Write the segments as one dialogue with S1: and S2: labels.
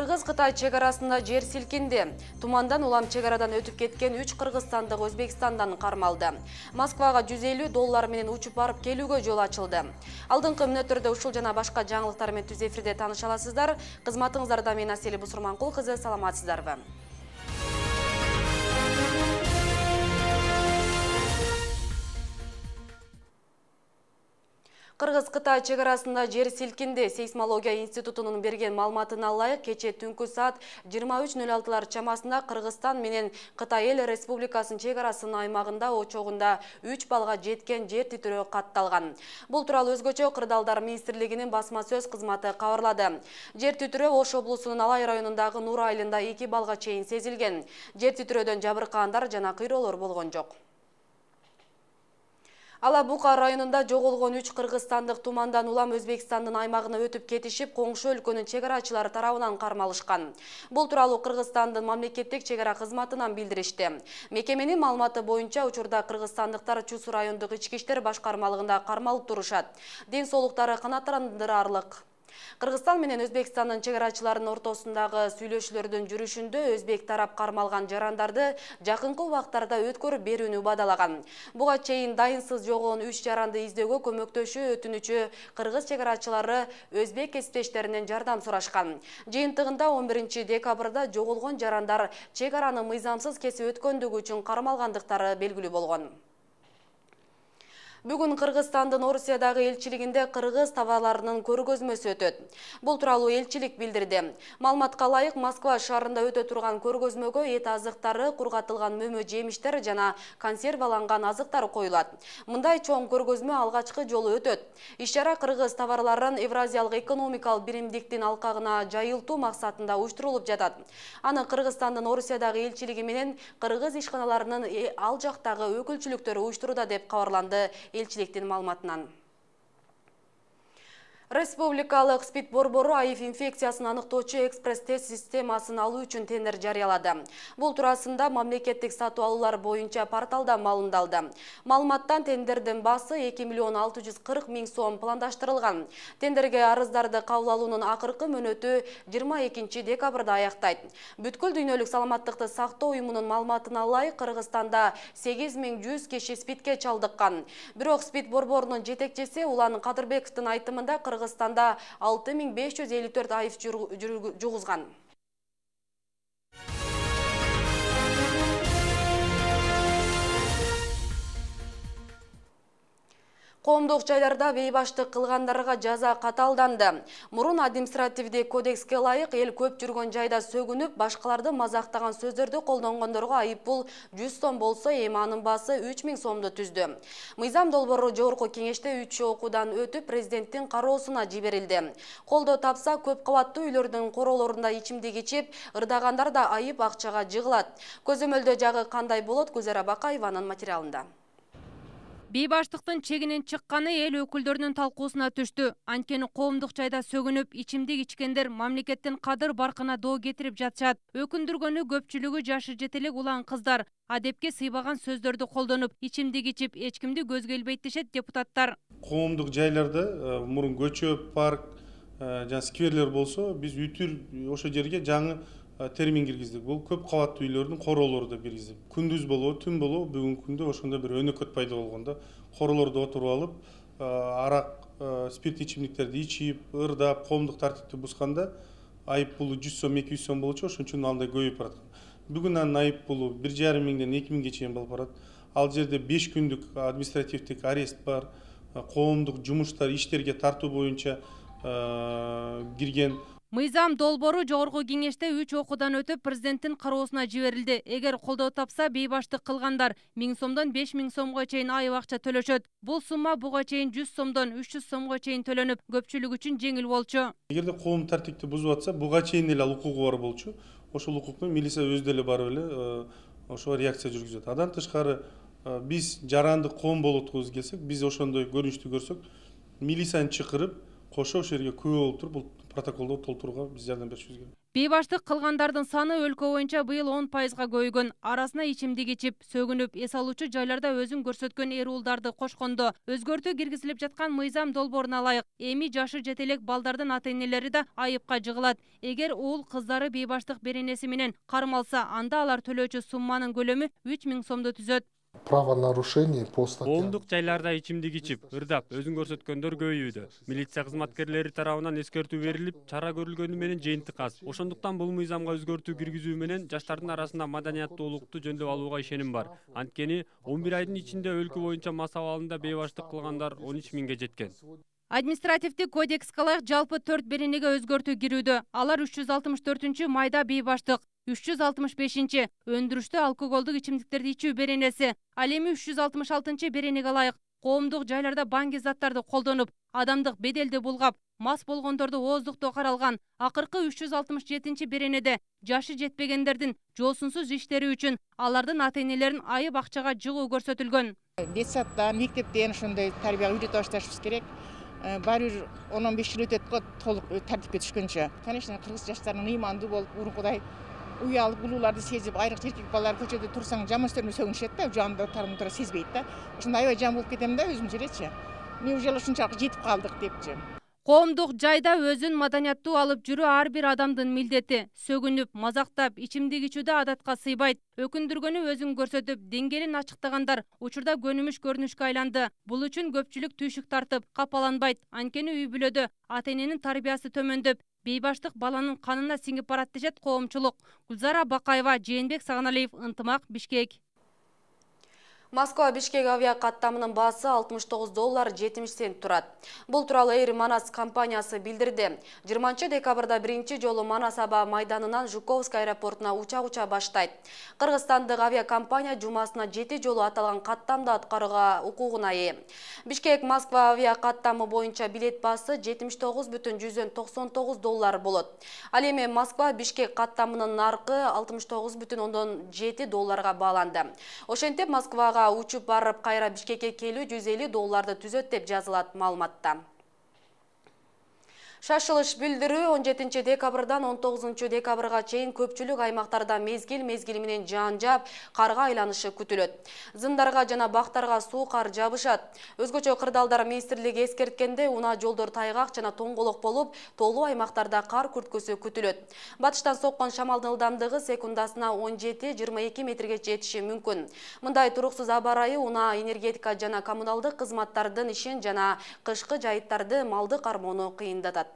S1: Кыргыз-Кытай чегарасында жер силкинди. Тумандан улам чегарадан өтүп кеткен 3 кыргызстандык Өзбекстандан кармалды. Москвага $150 менен учуп барып келүүгө жол ачылды. Алдыңкы мүнөттөрдө ушул жана башка жаңылыктар менен түз эфирде тааныша аласыздар. Кызматыңыздарда мен Асели Бусурманкул кызы, саламатсыздарбы? Кыргыз-Кытай чегарасында жер силкинди. Сейсмология институтунун берген маалыматына ылайык, кече түнкү саат 23:06 чамасында Кыргызстан менен Кытай эл республикасынын чегарасынын аймагында очогунда 3 балга жеткен жер титирөө катталган. Бул тууралуу өзгөчө Кырдаалдар министрлигинин басма сөз кызматы кабарлады. Жер титирөө Ош облусунун Алай районундагы Нур айылында 2 балга чейин сезилген. Жер титирөөдөн жабыркагандар жана кыйроолор болгон жок. Ала Бука районунда жоголгон 3 кыргызстандык тумандан улам Өзбекстандын аймагына өтүп кетишип, коңшу өлкөнүн чегарачылары тарабынан кармалышкан. Бул тууралуу Кыргызстандын мамлекеттик чегара кызматынан билдиришти. Мекеменин маалыматы боюнча, учурда кыргызстандыктар Чусу райондук ички иштер башкармалыгында кармалып турушат. Ден соолуктары канааттандырарлык. Кыргызстан менен Өзбекстандын чегарачыларынын ортосундагы сүйлөшүүлөрдүн жүрүшүндө өзбек тарап кармалган жарандарды жакынкы убактарда өткөрүп берүүнү убадалаган. Буга чейин дайынсыз жогон 3 жаранды издөөгө көмөктөшүү өтүнүчү кыргыз чегарачылары өзбек кесиптештеринен жардам сурашкан. Жыйынтыгында 11 декабрда жоголгон жарандар чегараны мыйзамсыз кесип өткөндүгү үчүн кармалгандыктары белгилүү болгон. Бүгүн Кыргызстандын Орусиядагы элчилигинде кыргыз товарларынын көргөзмөсү өтөт. Бул тууралуу элчилик билдирди. Маалыматка ылайык, Москва шаарында өтө турган көргөзмөгө эт азыктары, кургатылган мөмө жемиштер жана консерваланган азыктар коюлат. Мындай чоң көргөзмө алгачкы жолу өтөт. Иш-чара кыргыз товарларын Евразиялык экономикалык биримдиктин алкагына жайылтуу максатында уюштурулуп жатат. Аны Кыргызстандын Орусиядагы элчилиги менен кыргыз ишканаларынын ал жактагы өкүлчүлүктөрү уюштуруда деп кабарланды элчиликтин маалыматынан. Республикалык СПИД борбору АИФ инфекциясын аныктоочу экспресс-тест системасын алуу үчүн тендер жарыялады. Бул туурасында мамлекеттик сатуу алуулар боюнча порталда маалымдалды. Маалыматтан тендердин баасы 2,640,000 сом пландаштырылган. Тендерге арыздарды кабыл алуунун акыркы мөөнөтү 22 декабрда аяктайт. Бүткүл дүйнөлүк саламаттыкты сактоо уюмунун маалыматына ылайык, Кыргызстанда 8100 киши СПИДке чалдыккан. Бирок СПИД борборунун жетекчиси Улан Кадырбековдун айтымында Кыргызстанда 6554 АИФ жугузган. Коомдук жайларда бейбаштык кылгандарга жаза каталданды. Мурун административдик кодекске ылайык эл көп жүргөн жайда сөгүнүп, башкаларды мазактаган сөздөрдү колдонгондорго айыппул 100 сом болсо, эми анын баасы 3000 сомду түздү. Мыйзам долбоору жогорку кеңеште 3 окуудан өтүп президенттин кароосуна жиберилди. Колдоо тапса, көп кабаттуу үйлөрдүн короолорунда ичимдик ичип, ырдагандар да айып акчага жыгылат. Көзөмөлдөө жагы кандай болот? Гүлзара Бакаеванын материалында.
S2: Бейбаштыктын чегинен чыкканы эл өкүлдөрүнүн талкуусуна түштү. Анткени коомдук жайда сөгүнүп, ичимдик ичкендер мамлекеттин кадыр баркына доо кетирип жатышат. Өкүндүргөнү көпчүлүгү жашы жете элек улан кыздар адепке сыйбаган сөздөрдү колдонуп, ичимдик ичип, эч кимди көзгө илбейт дешет депутаттар.
S3: Коомдук жайларда мурун көчө, парк, жана скверлер болсо, биз үтүр ошо жерге жаңы термин киргиздик. Бул көп кабаттуу үйлөрдүн короолору деп киргиздик. Күндүз болобу, түн болобу, бүгүнкү күндө ошондой бир өнөкөт пайда болгондо короолордо отуруп алып, арак, спирт ичимдиктерди ичип, ырдап, коомдук тартипти бузганда айып пулу 100 сом, 200 сом болчу, ошон үчүн андай көбөйүп бараткан. Бүгүн анын айып пулу 1,5 миңден 2 миңге чейин болуп барат. Ал жерде 5 күндүк административдик арест бар, коомдук жумуштар, иштерге тартуу боюнча кирген.
S2: Мыйзам долбоору жогорку кеңеште 3 окуудан өтүп президенттин кароосуна жиберилди. Эгер колдоо тапса, бейбаштык кылгандар 1000 сомдон 5000 сомго чейин айып акча төлөшөт. Бул сумма буга чейин 100 сомдон 300 сомго чейин төлөнүп, көпчүлүк үчүн жеңил болчу.
S3: Эгерде коом тартипти бузуп атса, буга чейин эле ал укугу бар болчу. Ошол укукну милиция өзү деле барып эле ошого реакция жүргүзөт. Андан тышкары биз жарандык коом болуп аткыбыз келсек, биз ошондой көрүнүштү көрсөк, милицияны чакырып, кошо ошол жерге күбө болуп туруп, бул протоколдо толтурууга биз жардам беришибиз керек.
S2: Бейбаштык кылгандардын саны өлкө боюнча быйыл 10%га көбөйгөн. Арасына ичимдик ичип, сөгүнүп, эс алуучу жайларда өзүн көрсөткөн эр уулдарды кошкондо өзгөртүү киргизилип жаткан мыйзам долбооруна ылайык эми жашы жете элек балдардын ата-энелери да айыпка жыгылат. Эгер уул кыздары бейбаштык беренеси менен кармалса, анда алар төлөөчү сумманын көлөмү 3000 сомду түзөт.
S4: Правонарушений по статьям.
S5: Коомдук жайларда ичимдик ичип, ырдап, өзүн көрсөткөндөр көбөйүүдө. Милиция кызматкерлери тарабынан эскертүү берилип, чара көрүлгөнү менен жыйынтык аз. Ошондуктан бул мыйзамга өзгөртүү киргизүү менен жаштардын арасында маданияттуулукту жөндөп алууга ишеним бар. Анткени 11 айдын ичинде өлкө боюнча мас абалында бейбаштык кылгандар 13 000ге жеткен.
S2: Административдик кодекске ылайык жалпы 4 беренеге өзгөртүү кирүүдө. Алар 364 майда бейбаштык, 365 өндүрүштүү алкоголдук ичимдиктерди ичүү беренеси, ал эми 366 беренеге ылайык коомдук жайларда баңги заттарды колдонуп, адамдык беделди булгап, мас болгондорду ооздуктоо каралган. Акыркы 367 беренеде жашы жетпегендердин жоосунсуз иштери үчүн алардын ата-энелерин айып акчага жыгуу көрсөтүлгөн.
S6: Детсадтан, мектептен ошондой тарбия үйрөтө башташыбыз керек. Баары бир 10-15 жыл өтөт го толук тартипке түшкөнчө. Конечно, кыргыз жаштарынын ыймандуу болуп, урункудай уялып улууларды сезип, айрыкча эркек балалар көчөдө турсаң жаман сөздөрүн сөгүнүшөт да, жандыктарын тура сезбейт да. Ошондой аябай жаман болуп кетем да өзүм жеречи. Неужели ушунчалык жетип калдык депчи.
S2: Коомдук жайда өзүн маданияттуу алып жүрүү ар бир адамдын милдети. Сөгүнүп, мазактап, ичимдик ичүүдө адатка сыйбайт. Өкүндүргөнү өзүн көрсөтүп, деңгээлин ачыктагандар учурда көнүмүш көрүнүшкө айланды. Бул үчүн көпчүлүк түйшүк тартып, капаланбайт. Анткени үй бүлөдө ата-эненин тарбиясы төмөндөп, бейбаштык баланын канына сиңип барат дешет коомчулук. Гүлзара Бакаева, Жээнбек Саганалиев, Ынтымак, Бишкек.
S1: Москва-Бишкек авиа каттамынын баасы $69.70 турат. Бул тууралуу Air Manas компаниясы билдирди. 20 декабрда биринчи жолу Манас аба майданынан Жуковский аэропортуна учак уча баштайт. Кыргызстандык авиакомпания жумасына 7 жолу аталган каттамды аткарууга укугуна ээ. Бишкек-Москва авиа каттамы боюнча билет баасы $79.99 болот. Ал эми Москва-Бишкек каттамынын наркы $69.7 бааланды. Ошентип Москвага учуп барып кайра Бишкекке келүү $150 түзөт деп жазылат маалыматта. Шашылыш билдирүү 17 декабрдан 19 декабрга чейин көпчүлүк аймактарда мезгил менен жаан жаап, карга айланышы күтүлөт. Зымдарга жана бактарга суу кар жабышат. Өзгөчө кырдаалдар министрлиги эскерткенде унаа жолдор тайгак жана тоңголок болуп, тоолуу аймактарда кар күрткөсү күтүлөт. Батыштан соккон шамалдын ылдамдыгы секундасына 17-22 метрге жетиши мүмкүн. Мындай туруксуз аба ырайы унаа, энергетика жана коммуналдык кызматтардын ишин жана кышкы жайыттарды малды кармоону кыйындатат.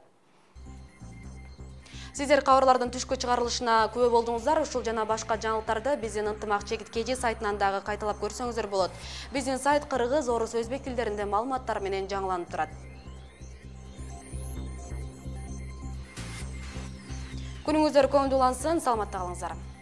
S1: Сиздер кабарлардын түшкү чыгарылышына күбө болдуңуздар. Ушул жана башка жаңылыктарды биздин Ынтымак ЧК сайтынан дагы кайталап көрсөңүздөр болот. Биздин сайт кыргыз, орус, өзбек тилдеринде маалыматтар менен жаңыланып турат. Күнүңүздөр көңүлдүү улансын, саламатта калыңыздар.